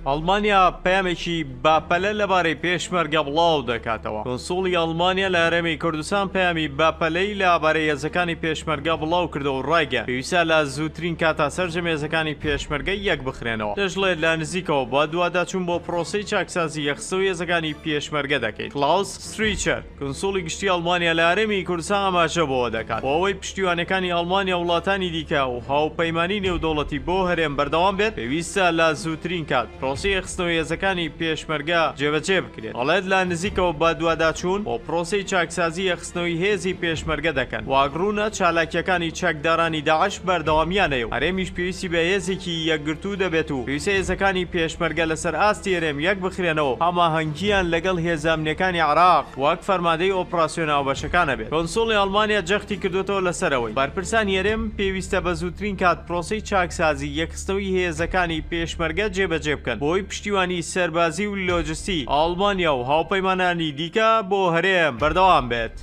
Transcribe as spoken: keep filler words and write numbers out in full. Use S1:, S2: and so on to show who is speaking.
S1: ئەڵمانیا پەیامێکی باپەلە لەبارەی پێشمەرگە بڵاو دەکاتەوە. کونسوڵی ئەڵمانیا لە هەرێمی کوردستان پەیامی باپەلەی لەبارەی هێزەکانی پێشمەرگە بڵاو کردەوە و ڕایگەیاند پێویستە لە زووترین کاتا سەرجەم هێزەکانی پێشمەرگە یەک بخرێنەوە. دەشڵێت لە نزیکەوە بە دوواداچوون بۆ پرۆسەی چاکسازی یەکخستنەوەی هێزەکانی پێشمەرگە دەکەین. کلاوس ستریچەر کونسوڵی گشتی ئەڵمانیا لە هەرێمی کوردستان ئاماژە بەوە دەکات بۆ ئەوەی پشتیوانەکانی ئەڵمانیا وڵاتانی دیکە و هاوپەیمانی نێودەوڵەتی بۆ هەرێم بەردەوام بێت، پێویستە لە زووترین کات پرۆسەی یەکخستنەوەی هێزەکانی پێشمەرگە جێبەجێ بکرێت. دەڵێت لە نزیکەوە بە دوواداچوون بۆ پرۆسەی چاکسازی یەکخستنەوەی هێزی پێشمەرگە دەکەن. واگڕوونە چالاکیەکانی چەکدارانی داعش بەردەوامیانەیە و هەرێمیش پێویستی بە هێزێکی یەکگرتوو دەبێت و پێویستە هێزەکانی پێشمەرگە لەسەر ئاستی هەرێم یەک بخرێنەوە و هەماهەنگیان لەگەڵ هێزە ئەمنیەکانی عێراق وەک فەرماندەی ئۆپراسیۆن هاوبەشەکانە بێت. کونسوڵی ئەڵمانیا جەختی کردوێتەوە لەسەرەوەی بەرپرسانی هەرێم پێویستە بە زووترین کات پرۆسەی چاکسازی یەکخستنەوەی هێزەکانی پێشمەرگە جێبەجێ بکەن بۆی پشتیوانی سەربازی و لۆجستی ئەڵمانیا و هاوپەیمانانی دیکە بۆ هەرێم بەردەوام بێت.